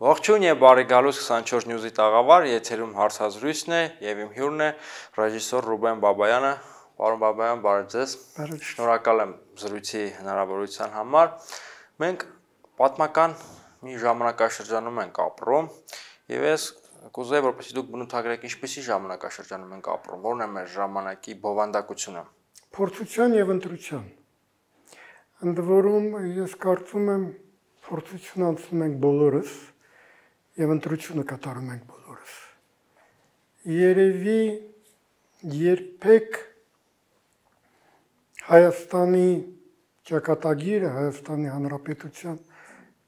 Ողջույն եւ բարի գալուս 24 News-ի տաղավար, եթերում հարցազրույցն է եւ իմ հյուրն է ռեժիսոր Ռուբեն Բաբայանը։ Պարոն Բաբայան, բարև ձեզ։ Շնորհակալ եմ զրույցի հնարավորության համար։ Մենք պատմական մի ժամանակաշրջանում ենք ապրում եւ ես կուզեի, որպեսզի դուք բնութագրեք ինչպիսի ժամանակաշրջանում ենք ապրում, որն է մեր ժամանակի բովանդակությունը։ Փորձության եւ ընտրության։ Ընդ որում ես կարծում եմ փորձություն անցնում ենք բոլորս եւ ընտրությունը կատարում ենք բոլորս։ Երևի երբեք Հայաստանի ճակատագիրը, Հայաստանի Հանրապետության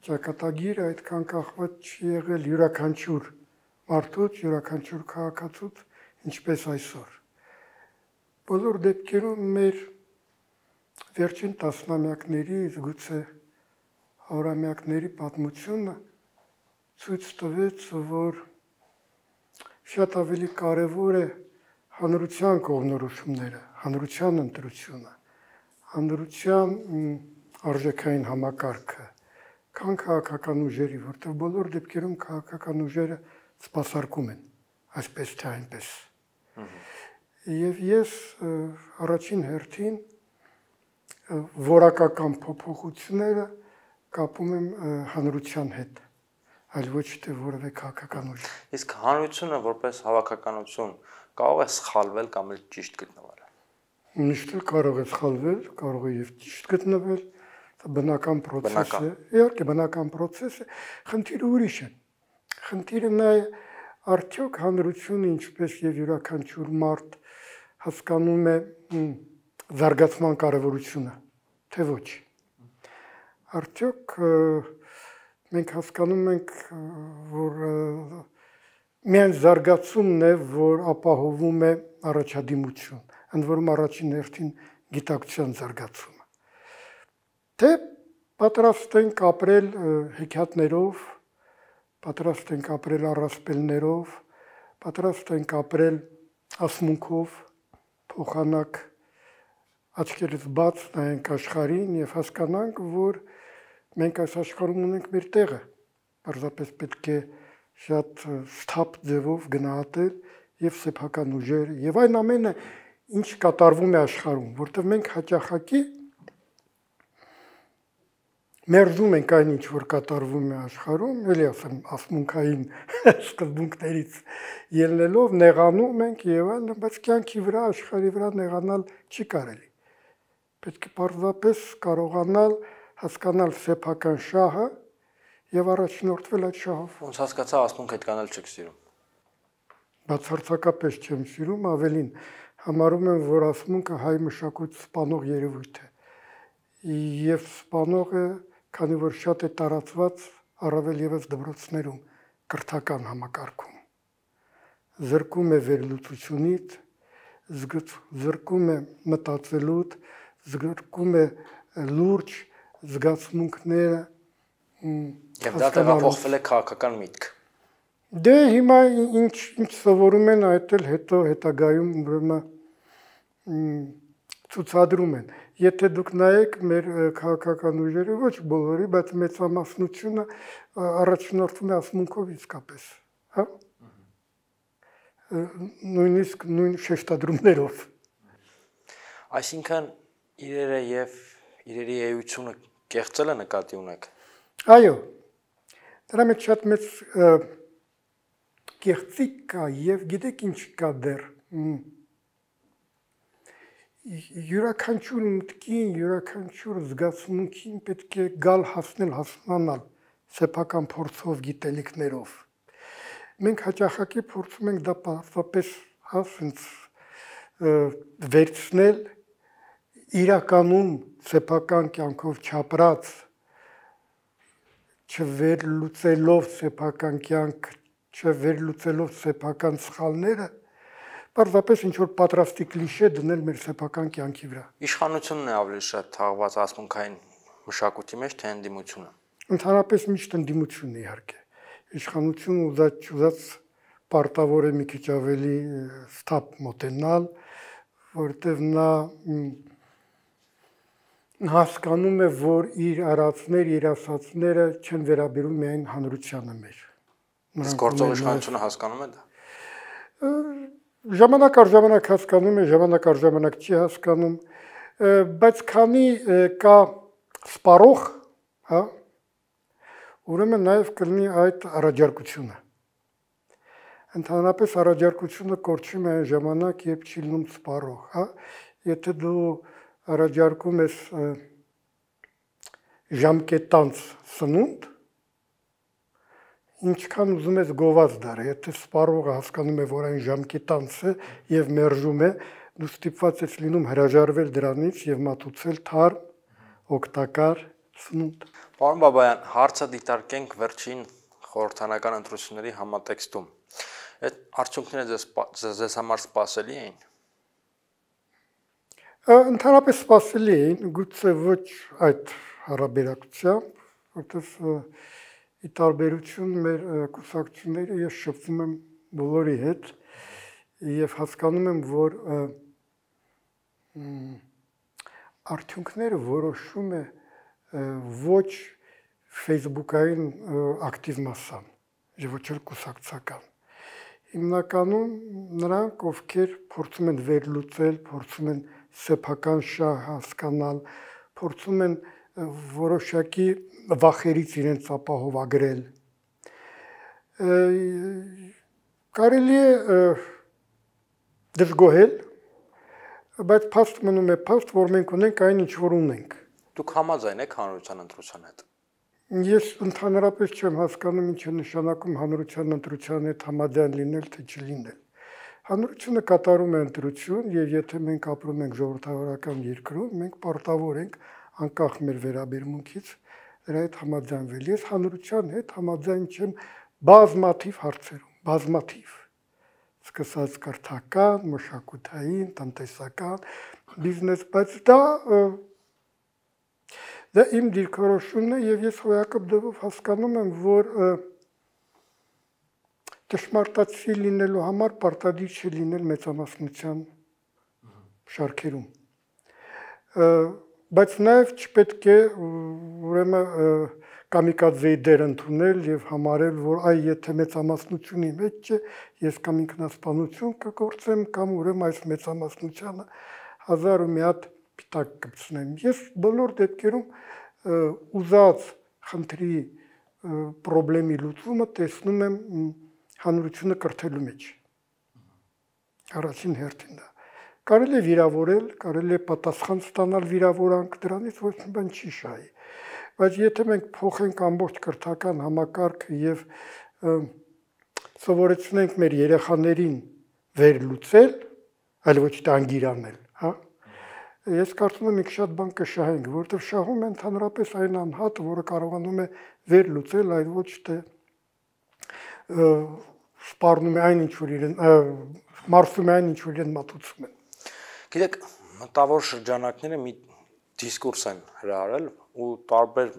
ճակատագիրը այդքան կախված չի եղել յուրաքանչյուր մարդուց, յուրաքանչյուր քաղաքացուց, ինչպես այսօր։ Բոլոր դեպքերում մեր վերջին տասնամյակների, գուցե հարյուրամյակների պատմությունը ցույց տվեց, որ շատ ավելի կարևոր է հանրության կողմնորոշումները, հանրության ընտրությունը, հանրության արժեքային համակարգը, քան քաղաքական ուժերի, որտեղ բոլոր դեպքերում քաղաքական ուժերը սպասարկում են, այսպես թե այնպես։ Եվ ես առաջին հերթին որակական փոփոխությունները կապում եմ հանրության հետ, այլ ոչ թե որևէ քաղաքական ուժ։ Իսկ հանրությունը որպես հավաքականություն կարող է սխալվել կամ էլ ճիշտ գտնվել։ Միշտ կարող է սխալվել, կարող է եւ ճիշտ գտնվել, դա բնական process է։ Իհարկե բնական process է, խնդիրը ուրիշ է։ Խնդիրը նա է արդյոք հանրությունը ինչպես եւ յուրաքանչյուր մարդ հասկանում է զարգացման կարևորությունը, թե ոչ։ Արդյոք մենք հասկանում ենք, որ միայն զարգացումն է, որ ապահովում է առաջադիմություն, ընդ որում առաջին հերթին գիտակցության զարգացումը։ Թե պատրաստ ենք ապրել հեքիաթներով, պատրաստ ենք ապրել առասպելներով, պատրաստ ենք ապրել ասմունքով, փոխանակ աչքերս բաց նայենք աշխարհին եւ հասկանանք, որ մենք այս աշխարհում ունենք մեր տեղը, պարզապես պետք է շատ սթափ ձևով գնահատել եւ սեփական ուժեր եւ այն ամենը, ինչ կատարվում է աշխարհում, որտեղ մենք հաճախակի մերժում ենք այն, ինչ որ կատարվում է աշխարհում, էլի ասեմ, ասմունքային սկզբունքներից ելնելով նեղանում ենք եւ այլն, բայց կյանքի վրա, աշխարհի վրա նեղանալ չի կարելի։ Պետք է պարզապես կարողանալ հասկանալ սեփական շահը եւ առաջնորդվել այդ շահով։ Ոնց հասկացա, ասմունք այդքան էլ չեք սիրում։ Բացարձակապես չեմ սիրում, ավելին համարում եմ, որ ասմունքը հայ մշակույթ սպանող երևույթ է։ Եվ սպանողը, քանի որ շատ է տարածված առավել եւս դպրոցներում, կրթական համակարգում, զրկում է վերլուծությունից, զրկում է մտածելուց, զրկում է լուրջ զգացմունքները եւ դա տեղափոխվել է քաղաքական միտք։ Դե հիմա ինչ սովորում են, այդ էլ հետո հետագայում ուրեմն ցուցադրում են։ Եթե դուք նայեք մեր քաղաքական ուժերը, ոչ բոլորի, բայց մեծամասնությունը առաջնորդվում է ասմունքով իսկապես, հա։ Նույնիսկ նույն շեշտադրումներով։ Այսինքն իրերը եւ իրերի էությունը կեղծելը նկատի ունեք։ Այո։ Դրա մեջ շատ մեծ կեղծիք կա եւ գիտեք ինչ կա դեռ։ Յուրաքանչյուր մտքին, յուրաքանչյուր զգացմունքին պետք է գալ հասկանալ սեփական փորձով, գիտելիքներով։ Մենք հաճախակի փորձում ենք դա պարզապես ասենց վերցնել իրականում սեփական կյանքով չապրած, չվերլուծելով սեփական կյանք, չվերլուծելով սեփական սխալները, պարզապես ինչ որ պատրաստի կլիշե դնել մեր սեփական կյանքի վրա։ Իշխանությունն է ավելի շատ թաղված ասմունքային մշակույթի մեջ, թե ընդդիմությունը։ Ընդհանրապես միշտ ընդդիմությունն է իհարկե։ Իշխանությունը ուզած պարտավոր է մի քիչ ավելի սթափ մոտենալ, որտեղ նա հասկանում է, որ իր արածներ, իր ասածները չեն վերաբերում միայն հանրությանը մեր։ Իսկ գործող իշխանությունը հասկանում է դա։ Ժամանակ առ ժամանակ հասկանում է, ժամանակ առ ժամանակ չի հասկանում, բայց քանի կա սպառող, հա, ուրեմն նաև կլինի այդ առաջարկությունը։ Ընդհանրապես առաջարկությունը կորչում է այն ժամանակ, երբ չի լինում սպառող, հա, եթե դու առաջարկում ես ժամկետանց սնունդ, ինչքան ուզում ես գոված դար, եթե սպառողը հասկանում է, որ այն ժամկետանց է եւ մերժում է, դու ստիպված ես լինում հրաժարվել դրանից եւ մատուցել թարմ, օգտակար սնունդ։ Պարոն Բաբայան, հարցը դիտարկենք վերջին խորհրդանական ընտրությունների համատեքստում։ Այդ արդյունքները ձեզ համար սպասելի էին։ Ընդհանրապես սպասելի էին, գուցե ոչ այդ հարաբերակցությամբ, որտեղ ի տարբերություն մեր կուսակցությունները ես շփվում եմ բոլորի հետ եւ հասկանում եմ, որ արդյունքները որոշում է ոչ Facebook-ային ակտիվ մասսան, եւ ոչ էլ կուսակցական։ Հիմնականում նրանք, ովքեր փորձում են վերլուծել, փորձում են սեփական շահ հասկանալ, փորձում են որոշակի վախերից իրենց ապահովագրել։ Կարելի է դժգոհել, բայց փաստ մնում է փաստ, որ մենք ունենք այն, ինչ որ ունենք։ Դուք համաձայն եք հանրության ընտրության հետ։ Ես ընդհանրապես չեմ հասկանում, ինչ է նշանակում հանրության ընտրության հետ համաձայն լինել, թե չլինել։ Հանրությունը կատարում է ընտրություն, եւ եթե մենք ապրում ենք ժողովրդավարական երկրում, մենք պարտավոր ենք անկախ մեր վերաբերմունքից դրա հետ համաձայնվել։ Ես հանրության հետ համաձայն չեմ բազմաթիվ հարցերում, բազմաթիվ։ Սկսած կրթական, մշակութային, տնտեսական, բիզնես, բայց դա իմ դիրքորոշումն է եւ ես հոյակապ դեպով հասկանում եմ, որ ճշմարտացի լինելու համար պարտադիր չի լինել մեծամասնության շարքերում։ Բայց նաև չպետք է ուրեմն կամիկադզեի դեր ընդունել եւ համարել, որ այ եթե մեծամասնությունի մեջ չէ, ես կամ ինքնասպանություն կգործեմ, կամ ուրեմն այս մեծամասնությանը 1001 հատ պիտակ կպցնեմ։ Ես բոլոր դեպքերում ուզած խնդրի խնդրի լուծումը տեսնում եմ հանրությունը կրթելու մեջ։ Առաջին հերթին դա։ Կարելի է վիրավորել, կարելի է պատասխան ստանալ վիրավորանք, դրանից ոչ մի բան չի շահի։ Բայց եթե մենք փոխենք ամբողջ կրթական համակարգը եւ սովորեցնենք մեր երեխաներին վերլուծել, այլ ոչ թե անգիրանել, հա։ Ես կարծում եմ մենք շատ բան կշահենք, որովհետեւ շահում են ընդհանրապես այն անհատը, որը կարողանում է վերլուծել, այլ ոչ թե սպառնում է այն, ինչ որ իրեն մարսում է այն, ինչ որ իրեն մատուցում են։ Գիտեք, մտավոր շրջանակները մի դիսկուրս են հրահարել ու տարբեր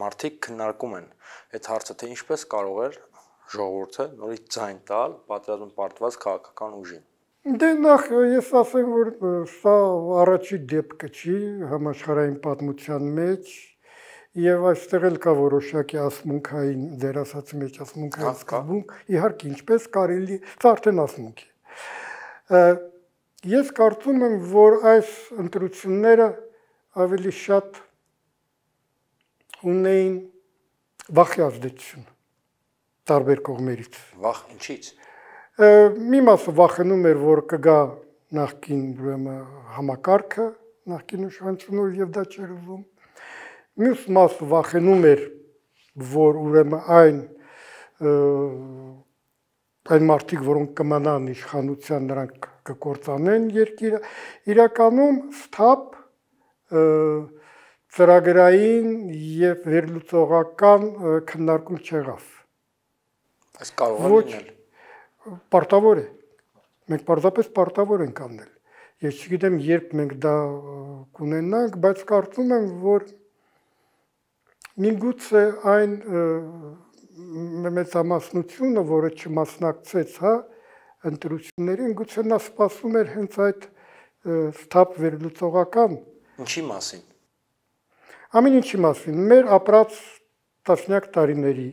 մարդիկ քննարկում են այդ հարցը, թե ինչպես կարող էր ժողովուրդը նորից ձայն տալ պատերազմում պարտված քաղաքական ուժին։ Դե նախ ես ասեմ, որ սա առաջի դեպքը չի համաշխարհային պատմության մեջ եւ այստեղ էլ կա որոշակի ասմունքային ձեր ասածի մեջ ասմունքային սկզբունք, իհարկե ինչպես կարելի, սա արդեն ասմունք է։ Ես կարծում եմ, որ այս ընտրությունները ավելի շատ ունեին վախի ազդեցություն տարբեր կողմերից։ Վախ ինչից։ Մի մասը վախենում էր, որ կգա նախկին ուրեմն համակարգը, նախկին իշխանությունը եւ դա չէր ուզում։ Մյուս մասը վախենում էր, որ ուրեմն այն մարդիկ, որոնք կմնան իշխանության, նրանք կկործանեն երկիրը, իրականում սթափ ծրագրային եւ վերլուծողական քննարկում չեղավ։ Այս կարող է լինել։ Պարտավոր է։ Մենք պարզապես պարտավոր ենք անել։ Ես չգիտեմ, երբ մենք դա կունենանք, բայց կարծում եմ, որ միգուցե այն մեծամասնությունը, որը չմասնակցեց, հա, ընտրություններին, գուցե նա սպասում էր հենց այդ սթափ վերլուծողական։ Ինչի մասին։ Ամեն ինչի մասին, մեր ապրած տասնյակ տարիների,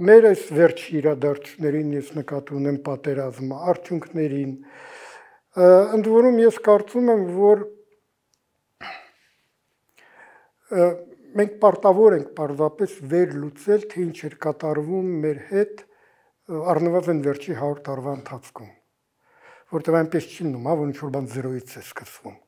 մեր այս վերջի իրադարձություններին ես նկատի ունեմ պատերազմը, արդյունքներին, ընդ որում ես կարծում եմ, որ մենք պարտավոր ենք պարզապես վերլուծել, թե ինչ էր կատարվում մեր հետ առնվազն վերջի 100 տարվա ընթացքում, որտեղ այնպես չի լինում, որ ինչ-որ բան զերոյից է սկսվում։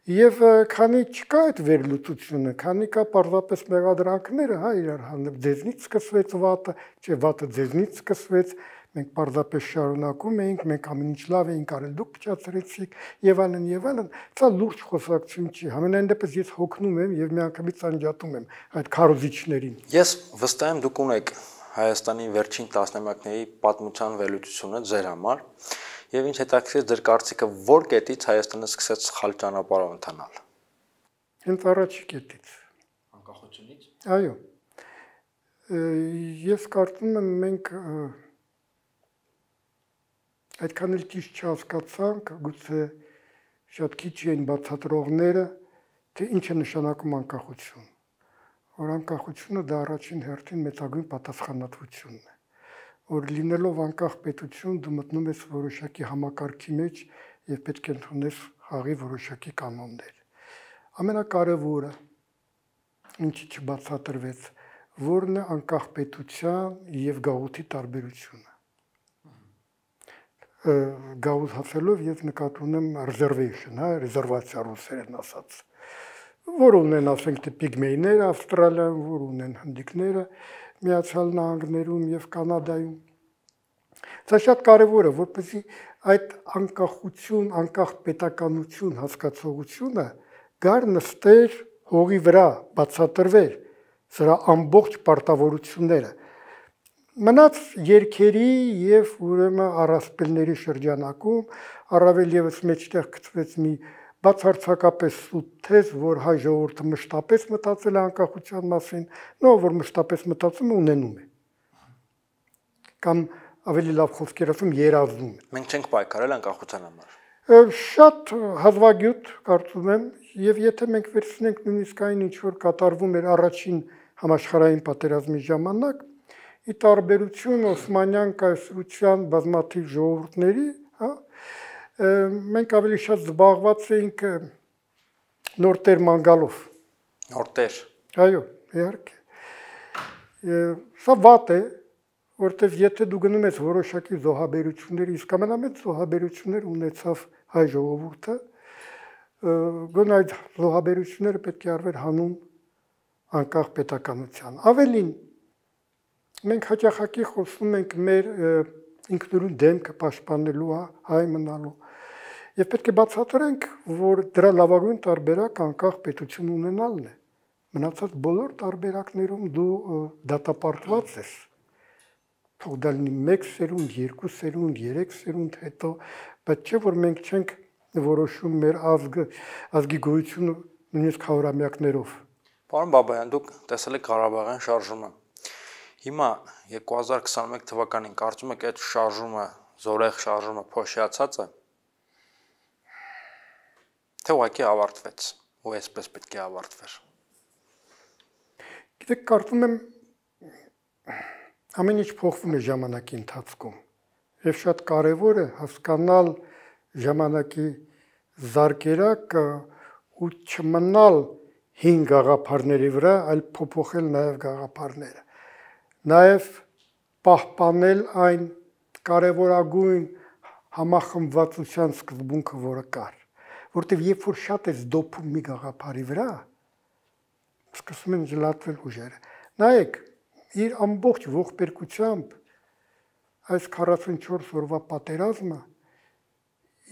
Եվ քանի չկա այդ վերլուծությունը, քանի կա պարզապես մեղադրանքները, իրար հանդեպ ձեզնից սկսվեց վատը, չէ վատը ձեզնից սկսվեց, մենք պարզապես շարունակում էինք, մենք ամեն ինչ լավ էինք արել, դուք փչացրեցիք եւ այլն, սա լուրջ խոսակցություն չի։ Համենայն դեպս ես հոգնում եմ եւ միանգամից անջատում եմ այդ քարոզիչներին։ Ես վստահ եմ դուք ունեք Հայաստանի վերջին տասնամյակների պատմության վերլուծությունը ձեր համար եւ ինչ հետաքրքիր ձեր կարծիքը որ կետից Հայաստանը սկսեց սխալ ճանապարհով ընթանալ։ Հենց առաջի կետից։ Անկախությունից։ Այո։ Ես կարծում եմ մենք այդքան էլ ճիշտ չհասկացանք, գուցե շատ քիչ էին բացատրողները, թե ինչ է նշանակում անկախություն։ Որ անկախությունը դա առաջին հերթին մեծագույն պատասխանատվությունն է, որ լինելով անկախ պետություն դու մտնում ես որոշակի համակարգի մեջ եւ պետք է ընդունես խաղի որոշակի կանոններ։ Ամենակարևորը, ինչի չբացատրվեց, որն է անկախ պետության եւ գաղութի տարբերությունը։ Գաղութ հասելով ես նկատի ունեմ reservation, ռեզերվացիա ռուսերեն ասած, որ ունեն ասենք թե պիգմեյները Ավստրալիայում, որ ունեն հնդիկները Միացյալ Նահանգներում եւ Կանադայում։ Դա շատ կարեւոր է, որպեսզի այդ անկախություն, անկախ պետականություն հասկացողությունը գար նստեր հողի վրա, բացատրվեր սրա ամբողջ պարտավորությունները։ Մնաց երկերի եւ ուրեմն առասպելների շրջանակում առավել եւս մեջտեղ գծվեց մի բացարձակապես սուտ թեզ, որ հայ ժողովուրդը մշտապես մտածել է անկախության մասին, որ մշտապես մտածում է ունենում է։ Կամ ավելի լավ խոսքեր ասում երազում է։ Մենք չենք պայքարել անկախության համար։ Շատ հազվագյուտ կարծում եմ, եւ եթե մենք վերցնենք նույնիսկ այն ինչ որ կատարվում էր առաջին համաշխարհային պատերազմի ժամանակ, ի տարբերություն Օսմանյան կայսրության բազմաթիվ ժողովուրդների, մենք ավելի շատ զբաղված էինք նորտեր մանգալով։ Նորտեր։ Այո, իհարկե։ Սա վատ է, որտեվ եթե դու գնում ես որոշակի զոհաբերությունների, իսկ ամենամեծ զոհաբերություններ ունեցավ հայ ժողովուրդը, գոնե այդ զոհաբերությունները պետք է արվեր հանուն անկախ պետականության։ Ավելին, մենք հաճախակի խոսում ենք մեր ինքնուրույն դեմքը պաշտպանելու, հայ մնալու, եւ պետք է բացատրենք, որ դրա լավագույն տարբերակ անկախ պետություն ունենալն է։ Մնացած բոլոր տարբերակներում դու դատապարտված ես։ Թող դա լինի 1 սերունդ, 2 սերունդ, 3 սերունդ հետո, բայց չէ որ մենք չենք որոշում մեր ազգի գոյությունը նույնիսկ հարյուրամյակներով։ Պարոն Բաբայան, դուք տեսել եք Ղարաբաղյան շարժումը։ Հիմա 2021 թվականին կարծում եք այդ շարժումը, զորեղ շարժումը փոշիացած է։ Թե ուղղակի ավարտվեց, ու այսպես պետք է ավարտվեր։ Գիտեք, կարծում եմ ամեն ինչ փոխվում է ժամանակի ընթացքում եւ շատ կարեւոր է հասկանալ ժամանակի զարգերակը ու չմնալ հին գաղափարների վրա, այլ փոփոխել նաեւ գաղափարները, նաեւ պահպանել այն կարևորագույն համախմբվածության սկզբունքը, որը կար, որտեղ երբ որ շատ ես դոփում մի գաղափարի վրա, սկսում են ժլատվել ուժերը։ Նայեք, իր ամբողջ ողբերգությամբ այս 44 օրվա պատերազմը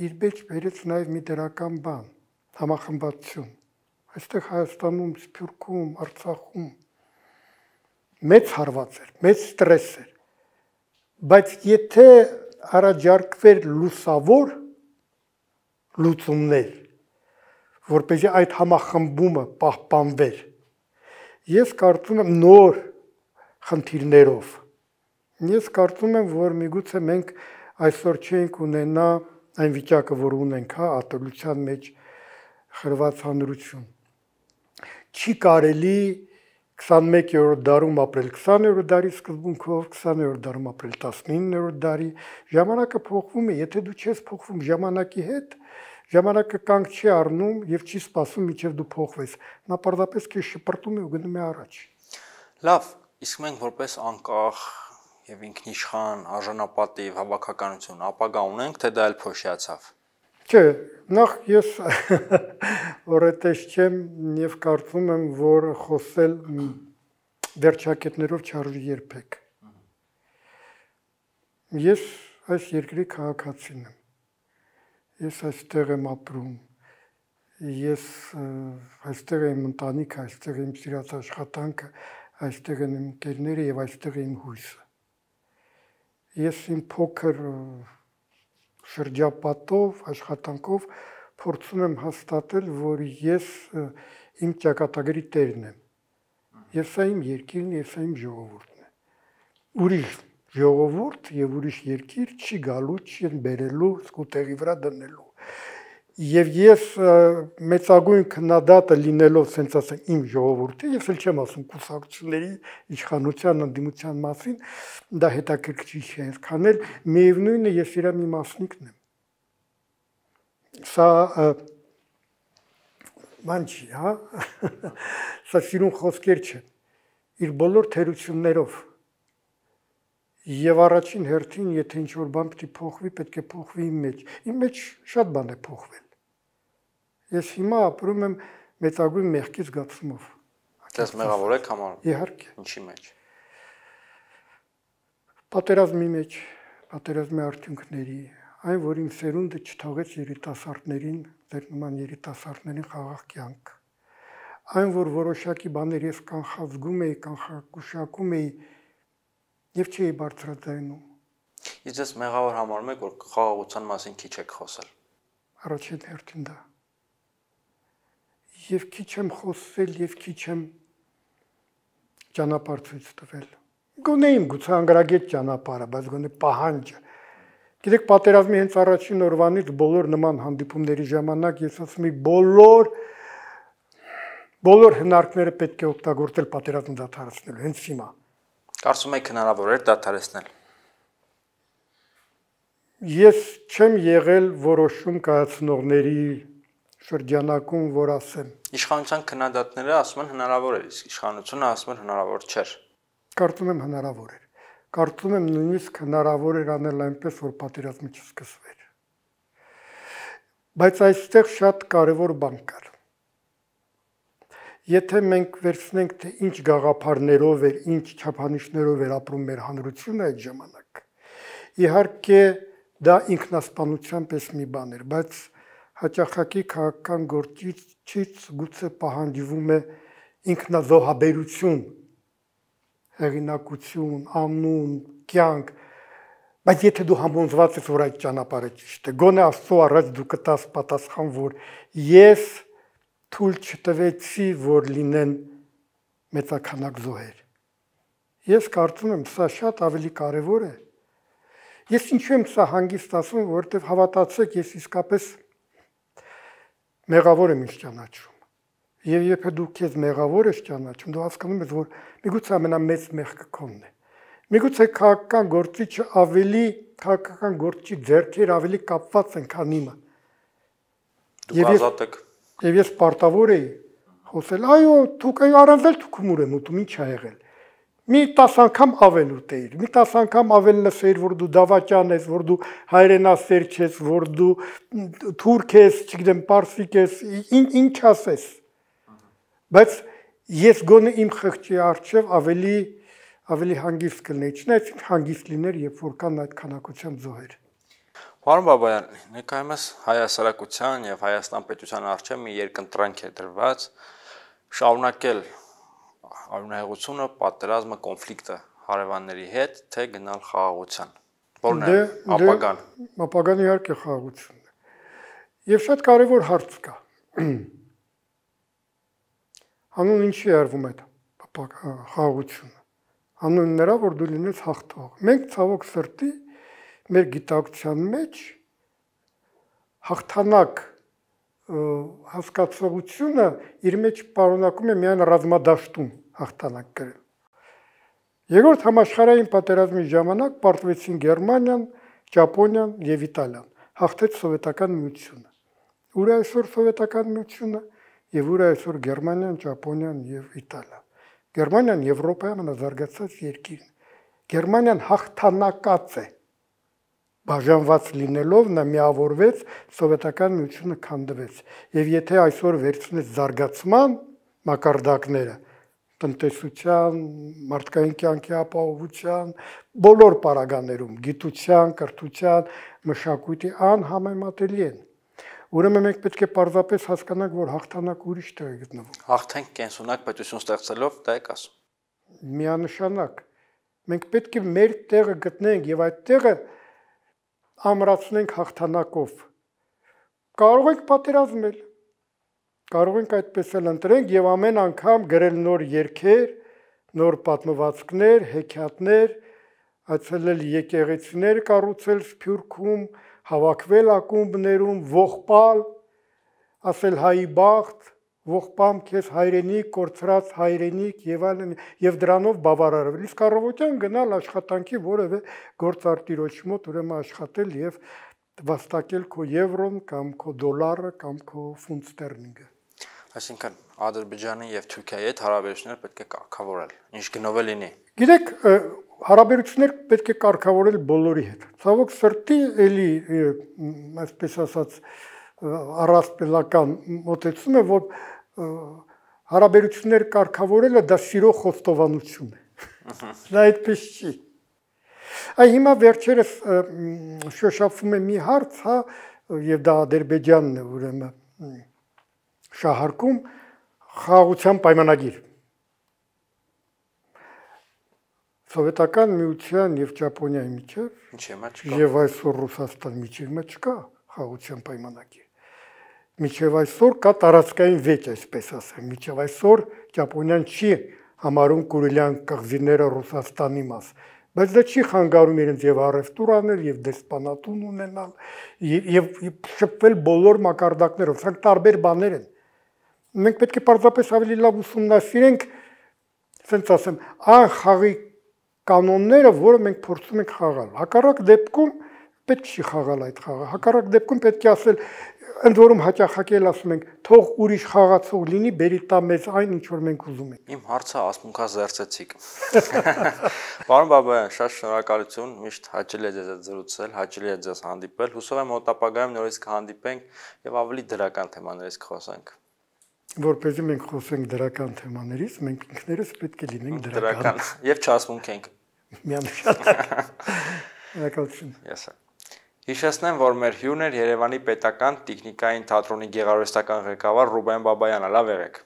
իր մեջ բերեց նաև մի դրական բան, համախմբվածություն։ Այստեղ Հայաստանում, Սփյուռքում, Արցախում մեծ հարված էր, մեծ ստրես էր։ Բայց եթե առաջարկվեր լուսավոր լուծումներ, որպեսզի այդ համախմբումը պահպանվեր, ես կարծում եմ նոր խնդիրներով, ես կարծում եմ, որ միգուցե մենք այսօր չենք ունենա այն վիճակը, որ ունենք, ատելության մեջ խրված հանրություն։ չի կարելի 21-րդ դարում ապրել 20-րդ դարի սկզբունքով, 20-րդ դարում ապրել 19-րդ դարի, ժամանակը փոխվում է, եթե դու չես փոխվում ժամանակի հետ, ժամանակը կանգ չի առնում եւ չի սպասում մինչեւ դու փոխվես, նա պարզապես քեզ շպրտում է ու գնում է առաջ։ Լավ, իսկ մենք որպես անկախ եւ ինքնիշխան արժանապատիվ հավաքականություն ապագա ունենք, թե դա էլ փոշիացավ։ Չէ, նախ ես որետես չեմ եւ կարծում եմ, որ խոսել վերջակետներով չարժի երբեք։ Ես այս երկրի քաղաքացին եմ։ Ես այստեղ եմ ապրում։ Ես այստեղ եմ ընտանիքը, այստեղ եմ սիրած աշխատանքը, այստեղ են իմ ընկերները եւ այստեղ է իմ հույսը։ Ես իմ փոքր շրջապատով, աշխատանքով փորձում եմ հաստատել, որ ես իմ ճակատագրի տերն եմ։ Եվ սա իմ երկիրն է, սա իմ ժողովուրդն է։ Ուրիշ ժողովուրդ եւ ուրիշ երկիր չի գալու, չի բերելու, սկուտերի վրա դնելու։ Եվ ես մեծագույն քննադատը լինելով, ասենք ասեմ, իմ ժողովրդի, ես էլ չեմ ասում կուսակցությունների իշխանության ընդդիմության մասին, դա հետաքրքիր չէ, այսքան էլ միևնույնն է, ես իրա մի մասնիկն եմ։ Սա ման չի, հա։ Սա սիրուն խոսքեր չեն։ Իր բոլոր թերություններով։ Եվ առաջին հերթին, եթե ինչ-որ բան պետք է փոխվի, պետք է փոխվի իմ մեջ։ Իմ մեջ շատ բան է փոխվել։ Ես հիմա ապրում եմ մեծագույն մեղքի զգացումով։ Դες մեղավոր եք համարում։ Իհարկե։ Ինչի մեջ։ Պատերազմի մեջ, պատերազմի արդյունքների, այն, որ իմ սերունդը չթողեց երիտասարդներին, ձեր նման երիտասարդներին խաղաղ կյանք։ Այն, որ որոշակի բաներ ես կանխազգում էի, կանխագուշակում էի եւ չի բարձրացնում։ Իսկ դες մեղավոր համարում եք, որ խաղաղության մասին քիչ եք խոսել։ Առաջին հերթին դա։ Եվ քիչ եմ խոսել եւ քիչ եմ ճանապարհ ցույց տվել։ Գոնե իմ գուցե անգրագետ ճանապարհը, բայց գոնե պահանջը։ Գիտեք, պատերազմի հենց առաջին օրվանից բոլոր նման հանդիպումների ժամանակ ես ասում եմ բոլոր հնարքները պետք է օգտագործել պատերազմը դադարեցնելու, հենց հիմա։ Կարծում եք հնարավոր է դադարեցնել։ Ես չեմ եղել որոշում կայացնողների շրջանակում, որ ասեմ։ Իշխանության քննադատները ասում են հնարավոր է, իսկ իշխանությունը ասում են հնարավոր չէր։ Կարծում եմ հնարավոր էր։ Կարծում եմ նույնիսկ հնարավոր էր անել այնպես, որ պատերազմը չսկսվեր։ Բայց այստեղ շատ կարևոր բան կար։ Եթե մենք վերցնենք, թե ինչ գաղափարներով էր, ինչ չափանիշներով էր ապրում մեր հանրությունը այդ ժամանակ, իհարկե դա ինքնասպանության պես մի բան էր, բայց հաճախակի քաղաքական գործիչից գուցե պահանջվում է ինքնազոհաբերություն, հեղինակություն, անուն, կյանք, բայց եթե դու համոզված ես, որ այդ ճանապարհը ճիշտ է, գոնե Աստծո առաջ դու կտաս պատասխան, որ ես թույլ չտվեցի, որ լինեն մեծաքանակ զոհեր։ Ես կարծում եմ, սա շատ ավելի կարևոր է։ Ես ինչու եմ սա հանգիստ ասում, որովհետև հավատացեք, ես իսկապես մեղավոր եմ ինձ ճանաչում։ Եվ եթե դու քեզ մեղավոր ես ճանաչում, դու հասկանում ես, որ միգուցե ամենամեծ մեղքը քոնն է։ Միգուցե քաղաքական գործի ձեռքեր ավելի կապված են, քան իմը։ Դուք ազատ եք։ Եվ ես պարտավոր էի խոսել, այո, դուք առանց էլ դուք ումուր եմ ուտում, ինչ ա եղել։ Մի 10 անգամ ավել ուտեիր, մի 10 անգամ ավել լսեիր, որ դու դավաճան ես, որ դու հայրենասեր ես, որ դու թուրք ես, չգիտեմ, պարսիկ ես, ինչ ասես։ Բայց ես գոնե իմ խղճի առջև ավելի հանգիստ կլինեի, չնայած հանգիստ լիներ, երբ որ կան այդ քանակությամբ զոհեր։ Պարոն Բաբայան, ներկայումս հայ հասարակության եւ Հայաստան պետության առջև մի երկընտրանք է դրված շարունակել արյունահեղությունը, պատերազմը, կոնֆլիկտը հարևանների հետ, թե գնալ խաղաղության։ Որն է ապագան։ Ապագան իհարկե խաղաղությունն է։ Եվ շատ կարևոր հարց կա։ Հանուն ինչի է արվում այդ խաղաղությունը։ Հանուն նրա, որ դու լինես հաղթող։ Մենք ցավոք սրտի մեր գիտակցության մեջ հաղթանակ հասկացողությունը իր մեջ պարունակում է միայն ռազմադաշտում հաղթանակ կրել։ Երկրորդ համաշխարհային պատերազմի ժամանակ պարտվեցին Գերմանիան, Ճապոնիան եւ Իտալիան, հաղթեց Սովետական միությունը։ Ուր է այսօր Սովետական միությունը եւ ուր է այսօր Գերմանիան, Ճապոնիան եւ Իտալիան։ Գերմանիան Եվրոպայի ամենազարգացած երկիրն է։ Գերմանիան հաղթանակած է։ Բաժանված լինելով նա միավորվեց, Սովետական միությունը քանդվեց։ Եվ եթե այսօր վերցնես զարգացման մակարդակները, տնտեսության, մարդկային կյանքի ապահովության, բոլոր պարագաներում, գիտության, կրթության, մշակույթի անհամեմատելի են։ Ուրեմն մենք պետք է պարզապես հասկանանք, որ հաղթանակ ուրիշ տեղ է գտնվում։ Հաղթենք կենսունակ պետություն ստեղծելով, դա եք ասում։ Միանշանակ։ Մենք պետք է մեր տեղը գտնենք եւ այդ տեղը ամրացնենք հաղթանակով։ Կարող ենք պատերազմել, կարող ենք այդպես էլ ընտրենք եւ ամեն անգամ գրել նոր երգեր, նոր պատմվածքներ, հեքիաթներ, այցելել եկեղեցիներ կառուցել Սփյուռքում, հավաքվել ակումբներում, ողբալ, ասել հայի բախտ, ողբամ քեզ հայրենիք, կորցրած հայրենիք եւ այլն եւ դրանով բավարարվել։ Իսկ առավոտյան գնալ աշխատանքի որևէ գործարտիրոջ մոտ ուրեմն աշխատել եւ վաստակել քո եվրոն կամ քո դոլարը կամ քո ֆունտ ստերլինգը։ Այսինքն Ադրբեջանի եւ Թուրքիայի հետ հարաբերությունները պետք է կարգավորել, ինչ գնով է լինի։ Գիտեք, հարաբերություններ պետք է կարգավորել բոլորի հետ։ Ցավոք սրտի էլի, այսպես ասած, առասպելական մոտեցում է, որ հարաբերություններ կարգավորելը դա սիրո խոստովանություն է։ Դա այդպես չի։ Այ հիմա վերջերս շոշափվում է մի հարց, հա, եւ դա Ադրբեջանն է ուրեմն շահարկում խաղաղության պայմանագիր։ Սովետական միության եւ Ճապոնիայի միջև եւ այսօր Ռուսաստանի միջև չկա խաղաղության պայմանագիր։ Միջև այսօր կա տարածքային վեճ, այսպես ասեմ, միջև այսօր Ճապոնիան չի համարում Կուրիլյան կղզիները Ռուսաստանի մաս, բայց դա չի խանգարում իրենց եւ առևտուր անել եւ դեսպանատուն ունենալ եւ շփվել բոլոր մակարդակներով, սրանք տարբեր բաներ են։ Մենք պետք է պարզապես ավելի լավ ուսումնասիրենք, ասենց ասեմ, այն խաղի կանոնները, որը մենք փորձում ենք խաղալ։ Հակառակ դեպքում պետք չի խաղալ այդ խաղը։ Հակառակ դեպքում պետք է ասել, ընդ որում հաճախակել ասում ենք, թող ուրիշ խաղացող լինի, բերի տա մեզ այն, ինչ որ մենք ուզում ենք։ Իմ հարցը ասմունքազերծեցիք։ Պարոն Բաբայան, շատ շնորհակալություն, միշտ հաճելի է ձեզ հետ զրուցել, հաճելի է ձեզ հանդիպել։ Հուսով եմ մոտ ապագայում նորից կհանդիպենք եւ ավելի դրական թեմաներից կխոսենք։ Որպեսզի մենք խոսենք դրական թեմաներից, մենք ինքներս պետք է լինենք դրական եւ չասմունքենք։ Միանշանակ։ Շնորհակալություն։ Yes sir։ Հիշեցնեմ, որ մեր հյուրն էր Երևանի պետական տեխնիկային թատրոնի գեղարվեստական ղեկավար Ռուբեն Բաբայանը, լավ եղեք։